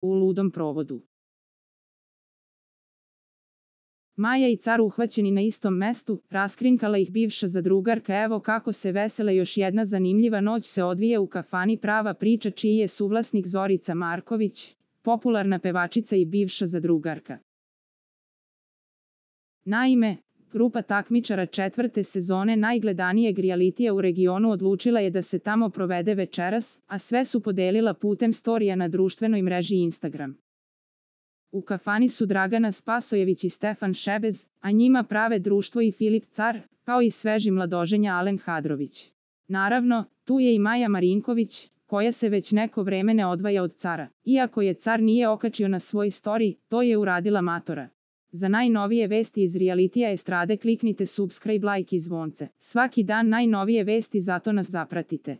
u ludom provodu. Maja i car uhvaćeni na istom mestu, raskrinkala ih bivša zadrugarka. Evo kako se vesele, još jedna zanimljiva noć se odvija u kafani. Prava priča, čiji je suvlasnik Zorica Marković, popularna pevačica i bivša zadrugarka. Naime, grupa takmičara 4. sezone najgledanijeg realitija u regionu odlučila je da se tamo provede večeras, a sve su podelila putem storija na društvenoj mreži Instagram. U kafani su Dragana Spasojević i Stefan Šebez, a njima prave društvo i Filip Car, kao i sveži mladoženja Alen Hadrović. Naravno, tu je i Maja Marinković, koja se već neko vreme ne odvaja od Cara. Iako je Car nije okačio na svoj story, to je uradila Matora. Za najnovije vesti iz realitija estrade kliknite subscribe, like i zvonce. Svaki dan najnovije vesti, zato nas zapratite.